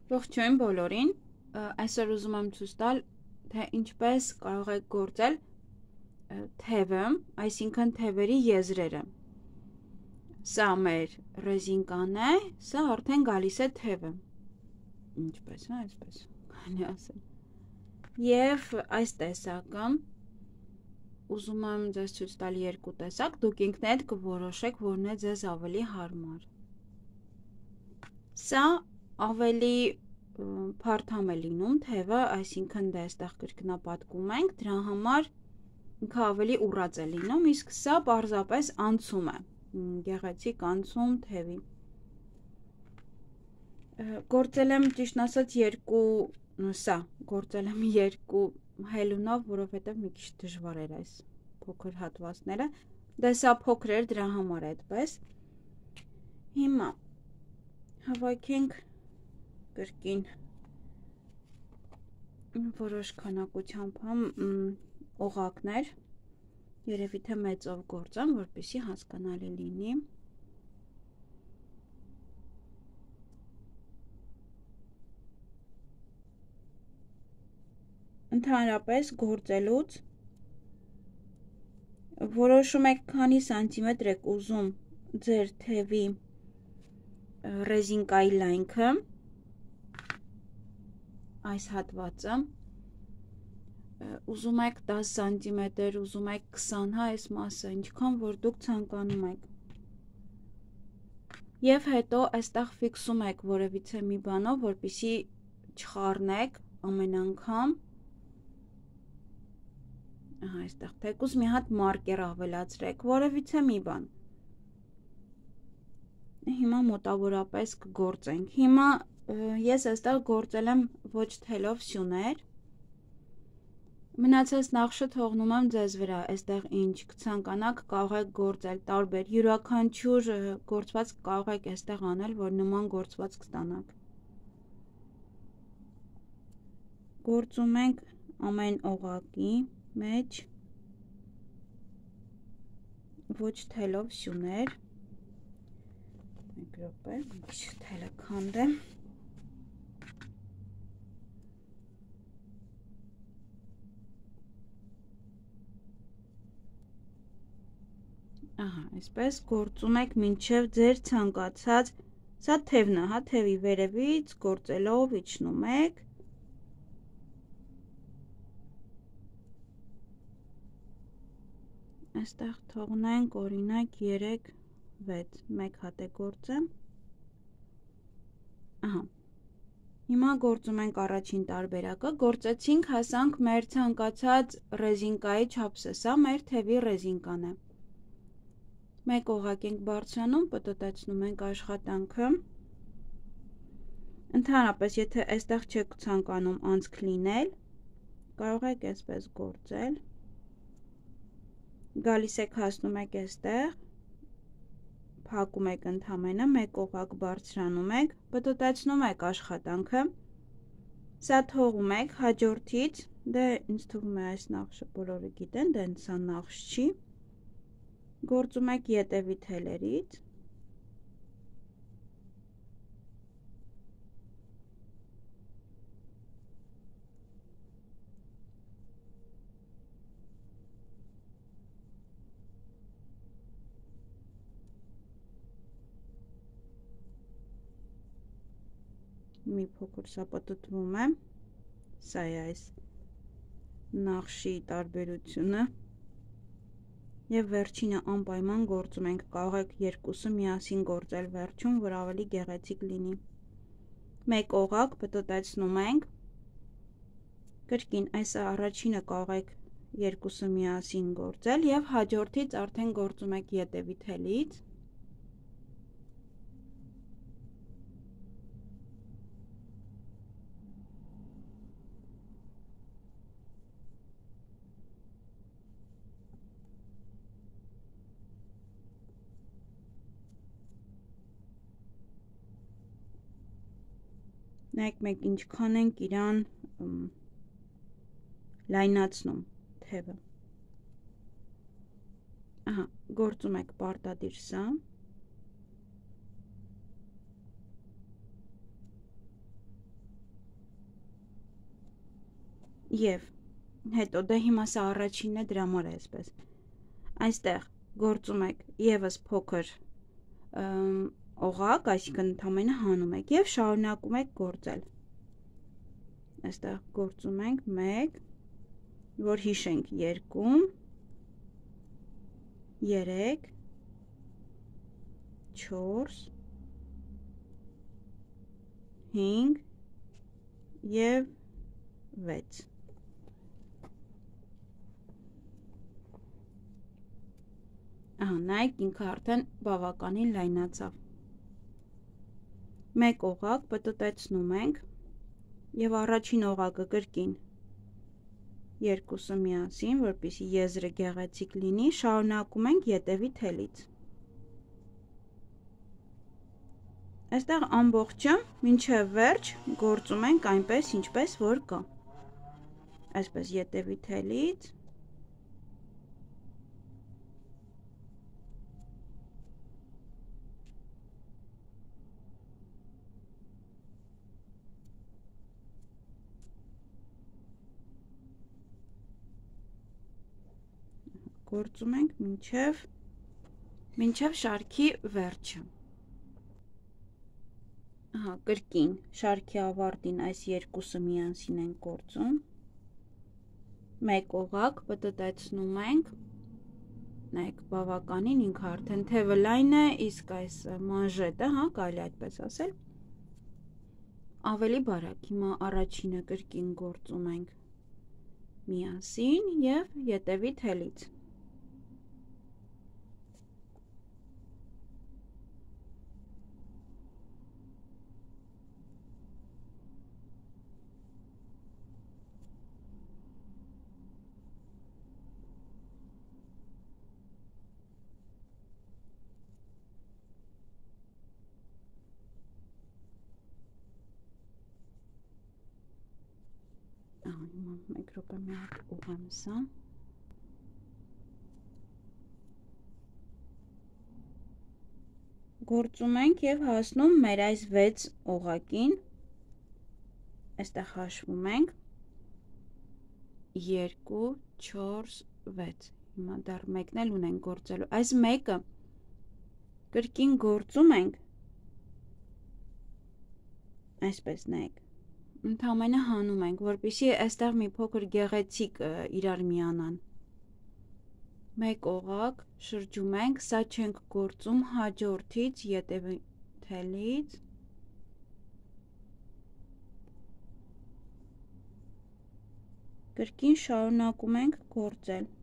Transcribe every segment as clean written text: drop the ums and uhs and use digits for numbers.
Ողջույն բոլորին, այսօր ուզում եմ ցույց տալ, թե ինչպես կարող եք գործել թևը, այսինքն թևերի եզրերը։ Սա մեր ռեզինկան է, սա արդեն գալիս է թևը։ Ինչպես է, այսպես կարելի ասել։ Եվ այս տեսակը ուզում եմ ձեզ ցույց տալ երկու տեսակ, դուք ինքներդ կորոշեք, որն է ձեզ ավելի հարմար։ Սա ավելի փարթամ է լինում թևը, այսինքն դե այստեղ կրկնապատկում ենք, դրա համար ինքը ավելի ուռած է լինում, իսկ սա պարզապես անցում է, գեղեցիկ անցում թևի։ Գործել եմ ճիշտ ասած գործել եմ երկու հելունով, որովհետև մի քիչ դժվար էր այս փոքր հատվածները, դե սա փոքր էր, դրա համար է այդպես։ Հիմա հավաքենք կրկին որոշ քանակությամբ օղակներ, երևի թե մեծով գործեմ, որպեսզի հասկանալի լինի։ Ընդհանրապես գործելուց որոշում եք քանի սանտիմետր եք ուզում ձեր թևի ռեզինկայի լայնքը, այս հատվածը, ուզում եք 10 սանտիմետր, ուզում եք 20, հա, այս մասը, ինչքան որ դուք ցանկանում եք։ Եվ հետո այստեղ ֆիքսում եք որևիցե մի բանով, որպեսզի չխառնեք ամեն անգամ։ Ահա, այստեղ թեկուզ մի հատ մարկեր ավելացրեք, որևիցե մի բան։ Հիմա մոտավորապես կգործենք։ Հիմա ես այստեղ գործել եմ ոչ թելով սյուներ։ Մնացած նախշը թողնում եմ ձեզ վրա, այստեղ ինչ կցանկանաք կարող եք գործել տարբեր, յուրաքանչյուր գործվածք կարող եք այստեղ անել, որ նման գործվածք ստանաք։ Գործում ենք ամեն օղակի մեջ ոչ թելով սյուներ։ Մեկ րոպե, մի քիչ թելը քանդեմ։ Ահա, այսպես գործում եք մինչև ձեր ցանկացած, սա թևն է, հա, թևի վերևից գործելով իջնում եք։ Այստեղ թողնենք օրինակ 3-6, մեկ հատ է գործեմ։ Ահա։ Հիմա գործում ենք առաջին տարբերակը, գործեցինք, հասանք մեր ցանկացած ռեզինկայի չափսը, սա մեր թևի ռեզինկան է։ Մեկ օղակ ենք բարձրանում, պտտեցնում ենք աշխատանքը։ Ընդհանրապես, եթե այստեղ չեք ցանկանում անցք լինել, կարող եք այսպես գործել։ Գալիս եք հասնում եք այստեղ, փակում եք ընդամենը, մեկ օղակ բարձրանում եք, պտտեցնում եք աշխատանքը, սա թողում եք, հաջորդից, դե ինձ թվում է այս նախշը բոլորը գիտեն, դե սա նախշ չի, գործում եք ետևի թելերից, մի փոքր սա պտտվում է, սա է այս նախշի տարբերությունը և վերջինը անպայման գործում ենք, կարող եք երկուսը միասին գործել վերջում, որ ավելի գեղեցիկ լինի։ Մեկ օղակ պտտեցնում ենք, կրկին այս առաջինը կարող եք երկուսը միասին գործել և հաջորդից արդեն գործում եք ետևի թելից։ Նայեք մենք ինչքան ենք իրան լայնացնում թևը։ Ահա, գործում եք պարտադիր սա։ Եվ հետո դե հիմա սա առաջինն է, դրա համար է այսպես։ Այստեղ գործում եք եւս փոքր օղակ, այսինքն ընդամենը հանում եք եւ շարունակում եք գործել։ Այստեղ գործում ենք 1, որ հիշենք 2, 3, 4, 5 եւ 6։ Նայեք, ինքը արդեն բավականին լայնացավ։ Մեկ օղակ պտտեցնում ենք եւ առաջին օղակը կրկին երկուսը միասին, որպեսզի եզրը գեղեցիկ լինի, շարունակում ենք ետևի թելից։ Այստեղ ամբողջը մինչև վերջ գործում ենք այնպես, ինչպես որ կա։ Այսպես ետևի թելից գործում ենք մինչև շարքի վերջը։ Կրկին շարքի ավարտին այս երկուսը միասին ենք գործում։ Մեկ օղակ պտտեցնում ենք։ Նայեք, բավականին ինքը արդեն թևը լայն է, իսկ այս մանժետը, կարելի այդպես ասել, ավելի բարակ։ Հիմա առաջինը կրկին գործում ենք միասին եւ ետևի թելից։ Մեկ րոպե մի հատ ուղղեմ սա։ Գործում ենք եւ հասնում մեր այս 6 օղակին։ Այստեղ հաշվում ենք 2, 4, 6։ Հիմա դեռ մեկն էլ ունենք գործելու։ Այս մեկը կրկին գործում ենք այսպես, նայեք։ Ընդամենը հանում ենք, որպեսզի այստեղ մի փոքր գեղեցիկ իրար միանան։ Մեկ օղակ շրջում ենք, սա չենք գործում հաջորդից ետևի թելից։ Կրկին շարունակում ենք գործել։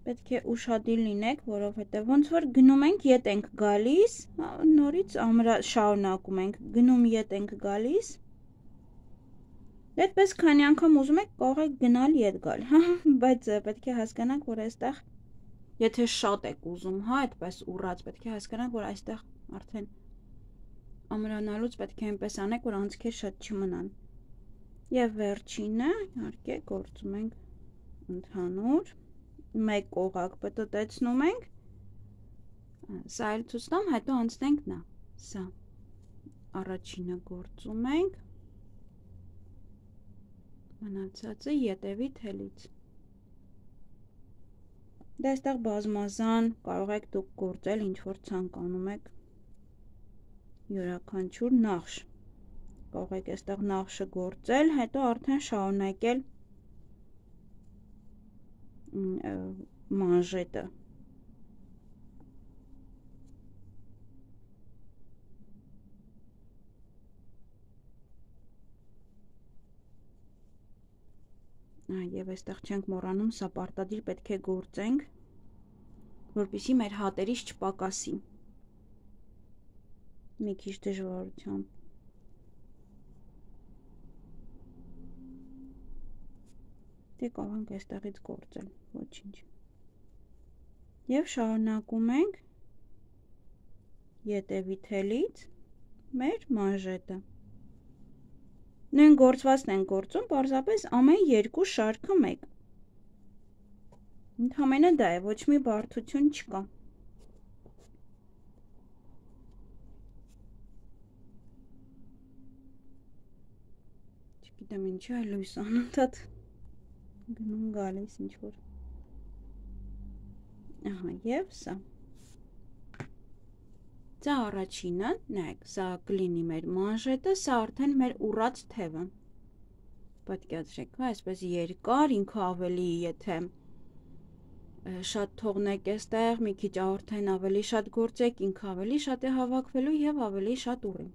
Պետք է ուշադիր լինեք, որովհետև ոնց որ գնում ենք, ետ ենք գալիս, նորից շարունակում ենք, գնում ետ ենք գալիս։ Այդպես քանի անգամ ուզում եք, կարող եք գնալ ետ գալ, բայց պետք է հասկանաք, որ այստեղ, եթե շատ եք ուզում, այդպես ուռած, պետք է հասկանաք, որ այստեղ արդեն ամրանալուց պետք է այնպես անեք, որ անցքեր շատ չմնան։ Եվ վերջինը, իհարկե, գործում ենք ընդհանուր, մեկ օղակ պտտեցնում ենք, սա էլ ցույց տամ, հետո անցնենք նա, սա առաջինը գործում ենք, մնացածը ետևի թելից։ Դա այստեղ բազմազան կարող եք դուք գործել, ինչ որ ցանկանում եք, յուրաքանչյուր նախշ, կարող եք այստեղ նախշը գործել, հետո արդեն շարունակել մանժետը։ Եվ այստեղ չենք մոռանում, սա պարտադիր պետք է գործենք, որպեսզի մեր հատերից չպակասի։ Մի քիչ դժվարությամբ։ Դե կարող ենք այստեղից գործել, ոչինչ։ Եվ շարունակում ենք ետևի թելից մեր մանժետը։ Նույն գործվածն ենք գործում, պարզապես ամեն երկու շարքը մեկ։ Ընդամենը դա է, ոչ մի բարդություն չկա։ Չգիտեմ ինչի այ լույս անընդհատ գնում գալիս ինչ որ։ Ահա, եւ սա։ Սա առաջինը, նայեք, սա կլինի մեր մանժետը, սա արդեն մեր ուռած թևը։ Պատկերացրեք, հա, այսպես երկար, ինքը ավելի, եթե շատ թողնեք այստեղ, մի քիչ արդեն ավելի շատ գործեք, ինքը ավելի շատ է հավաքվելու եւ ավելի շատ ուռի։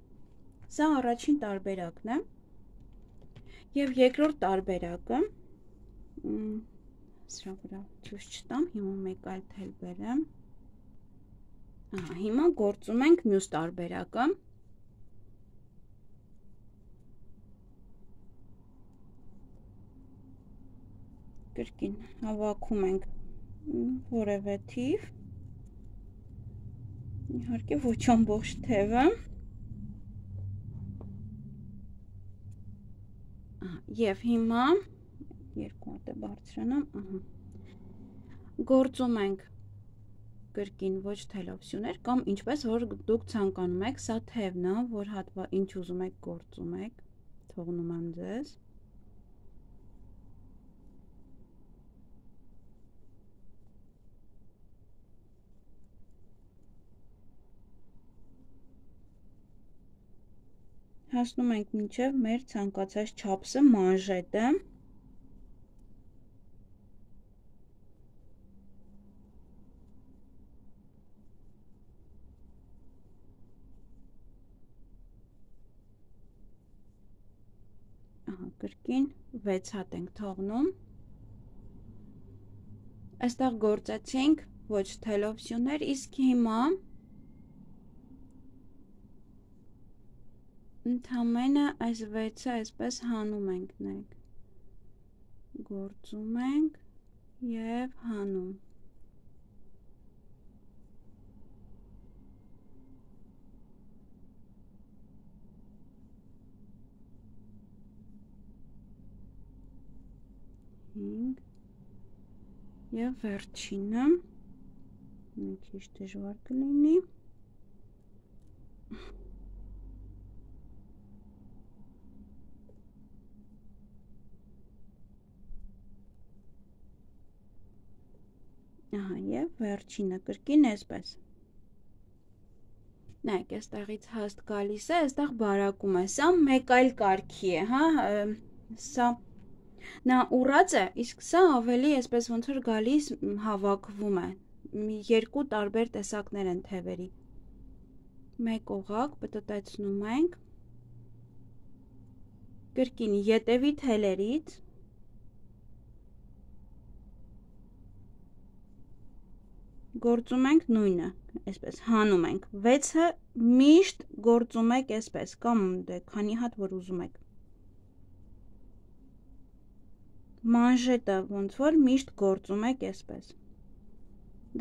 Սա առաջին տարբերակն է։ Եվ երկրորդ տարբերակը, սրա վրա ցույց չտամ, հիմա մեկ այլ թել բերեմ։ Ահա, հիմա գործում ենք մյուս տարբերակը։ Կրկին հավաքում ենք որևէ թիվ, իհարկե ոչ ամբողջ թևը, եւ հիմա երկու հատ է բարձրանամ, գործում ենք կրկին ոչ թելով սյուներ, կամ ինչպես որ դուք ցանկանում եք, սա թևն է, որ ինչ ուզում եք գործում եք, թողնում եմ ձեզ։ Հասնում ենք մինչև մեր ցանկացած չափսը, մանժետը։ Ահա, կրկին 6 հատ ենք թողնում։ Այստեղ գործեցինք ոչ թելով սյուներ, իսկ հիմա ընդամենը այս 6-ը այսպես հանում ենք, նայեք, գործում ենք և հանում։ Հինգ և վերջինը, մի քիչ դժվար կլինի։ Ահա, և վերջինը կրկին այսպես։ Նայեք, այստեղից հաստ գալիս է, այստեղ բարակում է, սա մեկ այլ կարգի է, հա, սա նա ուռած է, իսկ սա ավելի այսպես ոնց որ գալիս հավաքվում է, երկու տարբեր տեսակներ են թևերի։ Մեկ օղակ պտտեցնում ենք, կրկին ետևի թելերից, գործում ենք նույնը, այսպես հանում ենք, 6-ը միշտ գործում եք այսպես, կամ դե քանի հատ որ ուզում եք։ Մանժետը ոնց որ միշտ գործում եք այսպես։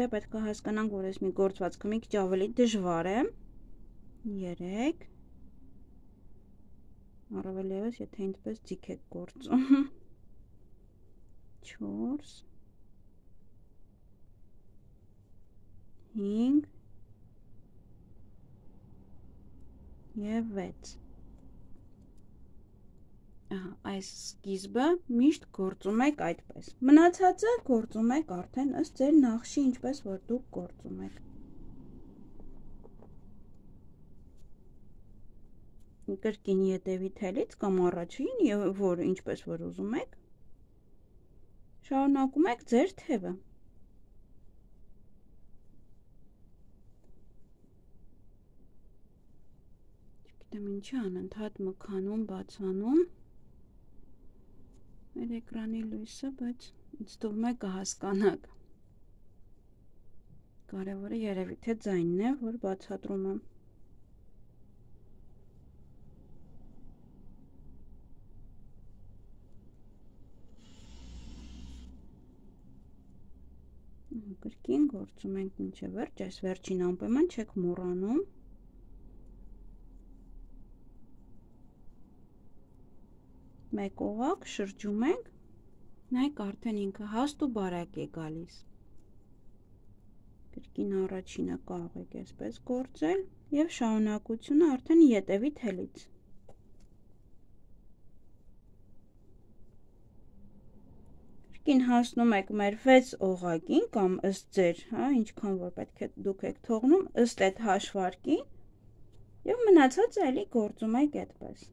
Դե պետք է հասկանանք, որ այս մի գործվածքը մի քիչ ավելի դժվար է։ 3 առավել ևս, եթե այնպես ձիգ եք գործում։ 4 5 և 6։ Այս սկիզբը միշտ գործում եք այդպես։ Մնացածը գործում եք արդեն ըստ ձեր նախշի, ինչպես որ դուք գործում եք։ Կրկին ետևի թելից կամ առաջին, որ ինչպես որ ուզում եք, շարունակում եք ձեր թևը։ Չգիտեմ ինչի անընդհատ մքանում, բացանում մեր էկրանի լույսը, բայց ինձ թվում է կհասկանաք։ Կարևորը երևի թե ձայնն է, որ բացատրում եմ։ Կրկին գործում ենք մինչև վերջ, այս վերջին անպայման չեք մոռանում։ Մեկ օղակ շրջում ենք, նայեք արդեն ինքը հաստ ու բարակ է գալիս։ Կրկին առաջինը կարող եք այսպես գործել և շարունակությունը արդեն ետևի թելից։ Կրկին հասնում եք մեր 6 օղակին կամ ըստ ձեր, հա, ինչքան որ պետք է դուք եք թողնում, ըստ այդ հաշվարկին եւ մնացածը էլի գործում եք այդպես։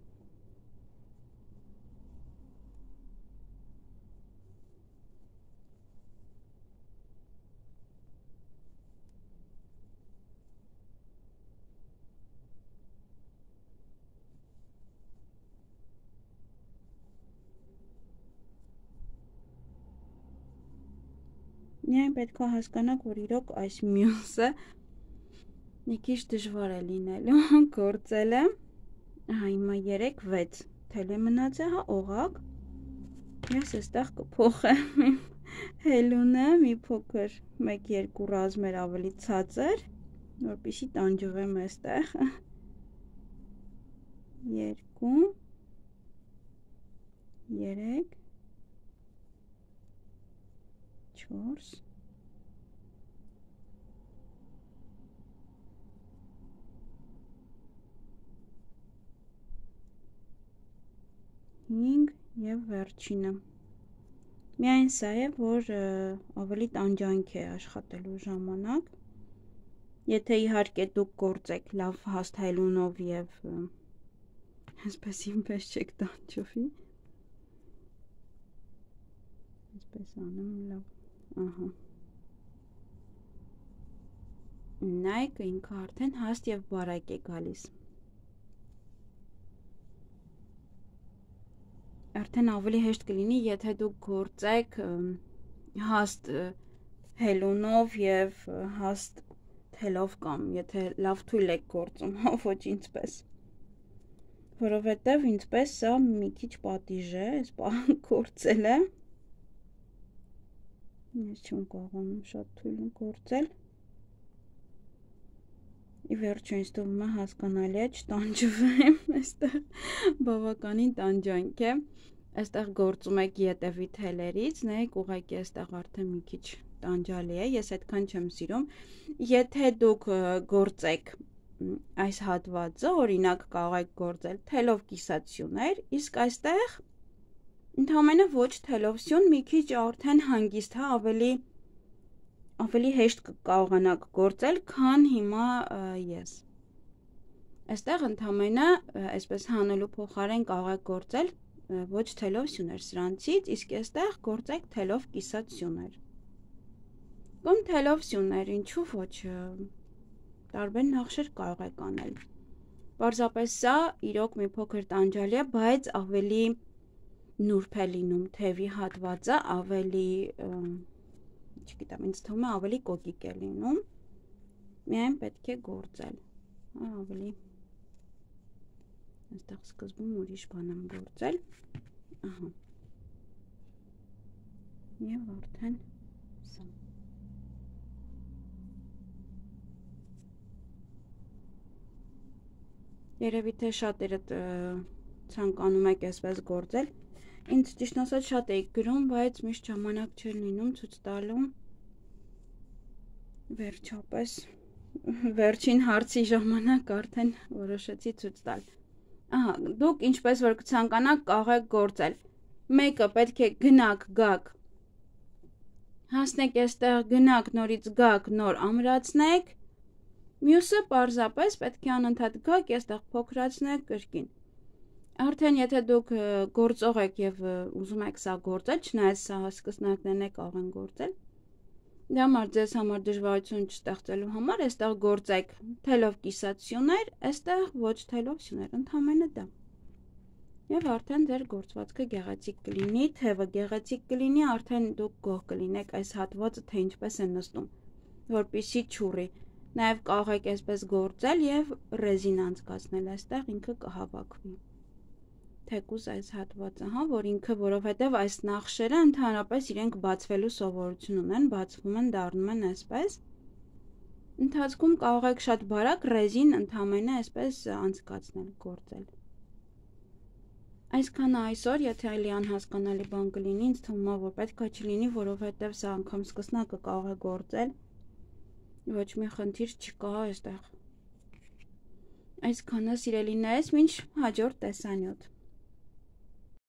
Միայն պետք է հասկանաք, որ իրոք այս մյուսը մի քիչ դժվար է լինելու գործելը։ Ահա հիմա 3-6 թել է մնացել, հա, օղակ։ Ես այստեղ կփոխեմ իմ հելունը մի փոքր 1-2 ռազմեր ավելի ցածր, որպեսզի տանջվեմ այստեղ։ 2 3 4 5 եւ վերջինը։ Միայն սա է, որ ավելի տանջանք է աշխատելու ժամանակ։ Եթե իհարկե դուք գործեք լավ հաստ հելունով եւ այսպես ինպես չեք տանջվի։ Այսպես անեմ լավ։ Ահա։ Նայեք, ինքը արդեն հաստ եւ բարակ է գալիս։ Արդեն ավելի հեշտ կլինի, եթե դուք գործեք հաստ հելունով եւ հաստ թելով կամ եթե լավ թույլ եք գործում, ոչ ինչպես։ Որովհետեւ ինչպես սա մի քիչ պատիժ է, այս բանը գործելը։ Ես չեմ կարողանում շատ թույլ գործել։ Ի վերջո ինձ թվում է հասկանալի է չտանջվեմ, այստեղ բավականին տանջանք է։ Այստեղ գործում եք ետևի թելերից, նայեք ուղղակի այստեղ արդեն մի քիչ տանջալի է, ես այդքան չեմ սիրում։ Եթե դուք գործեք այս հատվածը, օրինակ կարող եք գործել թելով կիսացյուներ, իսկ այստեղ ընդհանրապես ոչ թելով սյուն մի քիչ արդեն հանգիստ, հա, ավելի հեշտ կարողանաք գործել, քան հիմա ես։ Այստեղ ընդհանրապես այսպես հանելու փոխարեն կարող եք գործել ոչ թելով սյուներ սրանցից, իսկ այստեղ գործեք թելով կիսացյուներ։ Կամ թելով սյուներ, ինչու ոչ, տարբեր նախշեր կարող եք անել։ Պարզապես սա իրոք մի փոքր տանջալի է, բայց ավելի նուրբ է լինում թևի հատվածը, ավելի, չգիտեմ, ինձ թվում է ավելի կոկիկ է լինում, միայն պետք է գործել, ավելի, այստեղ սկզբում ուրիշ բան եմ գործել, ահա, և արդեն սա։ Երևի թե շատերդ ցանկանում եք այսպես գործել, ինձ ճիշտ ասած շատ էի գրում, բայց միշտ ժամանակ չէր լինում ցույց տալու։ Վերջապես վերջին հարցի ժամանակ արդեն որոշեցի ցույց տալ։ Ահա, դուք ինչպես որ կցանկանաք կարող եք գործել։ Մեկը պետք է գնաք, գաք, հասնեք այստեղ, գնաք, նորից գաք, նոր ամրացնեք։ Մյուսը պարզապես պետք է անընդհատ գաք, այստեղ փոքրացնեք կրկին։ Արդեն եթե դուք գործող եք եւ ուզում եք սա գործել, չնայած սա սկսնակներն եք կարող են գործել, դա համար ձեզ համար դժվարություն չստեղծելու համար, այստեղ գործեք թելով կիսացյուներ, այստեղ ոչ թելով սյուներ, ընդհանրապես դա։ Եվ արդեն ձեր գործվածքը գեղեցիկ կլինի, թևը գեղեցիկ կլինի, արդեն դուք գոհ կլինեք այս հատվածը, թե ինչպես է նստում, որպեսզի չուռի։ Նաեւ կարող եք այսպես գործել եւ ռեզին անցկացնել, այստեղ ինքը կհավաքվի։ Թեկուզ այս հատվածը, հա, որ ինքը, որովհետև այս նախշերը ընդհանրապես իրենք բացվելու սովորություն ունեն, բացվում են, դառնում են այսպես։ Ընթացքում կարող եք շատ բարակ ռեզին ընդհանրապես այսպես անցկացնել, գործել։ Այսքանը այսօր, եթե այլի անհասկանալի բան կլինի, ինձ թվում է, որ պետք է չլինի, որովհետև սա անգամ սկսնակը կարող է գործել։ Ոչ մի խնդիր չկա այստեղ։ Այսքանը սիրելիներս, մինչ հաջորդ տեսանյութ։